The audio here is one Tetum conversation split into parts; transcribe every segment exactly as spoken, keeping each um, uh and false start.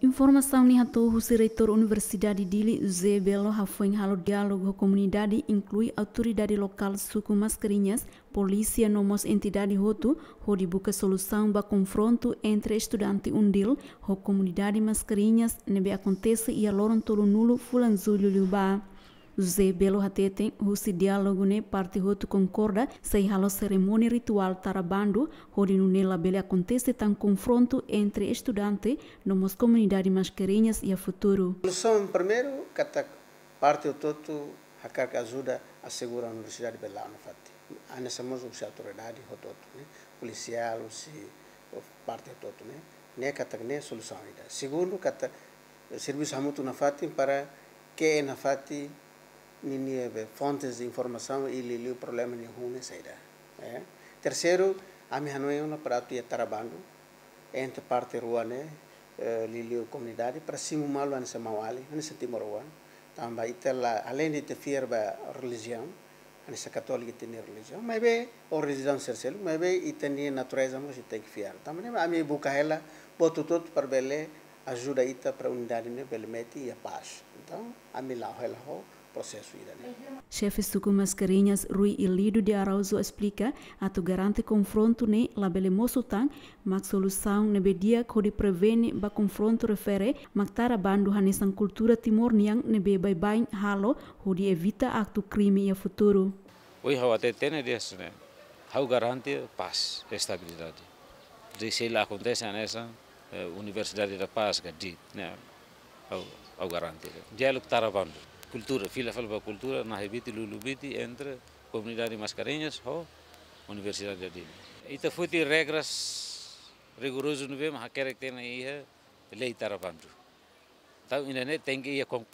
Informasaun ne'e hato'o husi Reitór Universidade Dili, José Belo, hafoin halo diálogu ho komunidade, inklui autoridade lokál suku Mascarenhas, polísia no mós entidade hotu, hodi buka solusaun ba konfrontu entre estudante UNDIL ho komunidade Mascarenhas ne'ebé akontese iha loron tolunulu fulan Jullu liubá. José Belo hateten, husi diálogu ne'e parte hotu konkorda sei halo serimónia rituál tara bandu, hodi nune'e labele akontese tan konfrontu entre estudante no mós komunidade Mascarenhas iha futuru. Solusaun primeiru, katak parte hotu-hotu hakarak ajuda asegura universidade bele la'o nafatin. Hanesan mós husi autoridade hotu-hotu ne'e, polisiál, husi parte hotu-hotu ne'e. Ne'e katak ne'e solusaun ida. Segundu, katak servisu hamutuk nafatin para ke'e nafatin ninia be fontes de informasaun i liuliu problema nia hun ne'e saida. Eh. Terseiru, ami hanoin ona para atu iha tara bandu entre parte rua ne'e, eh, liuliu komunidade para simu malu hanesan maun-alin, hanesan timoroan. Tanba ita la, além de ita fiar ba relijiaun, hanesan katólika ita-nia relijiaun, maibé, ou relijiaun sira seluk, maibé ita-nia natureza mós ita tenke fiar. Tanba ne'e ami buka hela buat hotu-hotu para bele ajuda ita para unidade ne'e bele metin iha pás. Entaun, ami la'o hela ho prosesu ida-ne'e. Xefe suku Mascarenhas, Rui Ilido de Araújo, esplika, atu garante konfrontu ne'e labele mosu tan, mak solusaun ne'ebé di'ak hodi prevene ba konfrontu refere mak tara bandu hanesan kultura Timor nian ne'ebé baibain halo hodi evita aktu krime iha futuru. Ohin ha'u hateten tiha ona, ha'u garante pás, estabilidade. Sei la akontese hanesan, eh, Universidade da Paz ka DIT, ne'e. Ha'u, ha'u garante. Diálogu tara bandu. Kultura, fila fali ba kultura, nahe biti, lulun biti entre komunidade Mascarenhas ho Universidade Dili. Ita foti regras rigorozu ne'ebé mak hakerek tiha ona iha lei tara bandu. Entaun, ida-ne'e tenke iha kon-,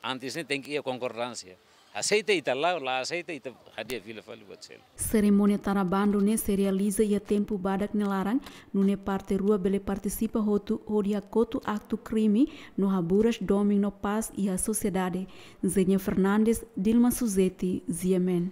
antes ne'e tenke iha konkordánsia. Aseita ita la'o, la aseita ita hadi'a fila fali buat seluk. Serimónia tara bandu ne'e sei realiza iha tempu badak nia laran, nune'e parte rua bele partisipa hotu hodi hakotu aktu krime no haburas domin no pás iha sosiedade. Zenia Fernandes, Dilma Suzeti, G M N.